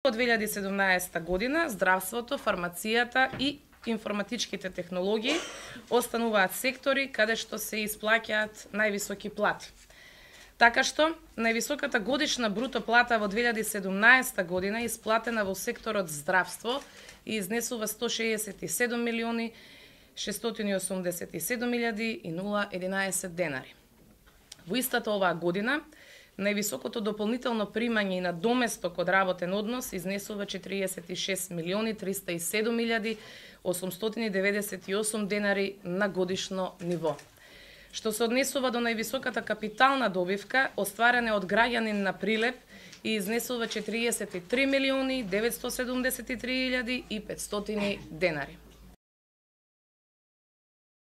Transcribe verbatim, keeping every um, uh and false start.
Во две илјади и седумнаесета година здравството, фармацијата и информатичките технологии остануваат сектори каде што се исплаќаат највисоки плати. Така што, највисоката годишна бруто плата во две илјади и седумнаесета година исплатена во секторот здравство и изнесува сто шеесет и седум милиони шестстотини и осумдесет и седум илјади и нула единаесет денари. Во истата оваа година, највисокото дополнително примање и на доместок од работен однос изнесува четириесет и шест милиони триста и седум илјади осумстотини деветдесет и осум денари на годишно ниво. Што се однесува до највисоката капитална добивка, остварена од граѓанин на Прилеп и изнесува четириесет и три милиони деветстотини седумдесет и три илјади и петстотини денари.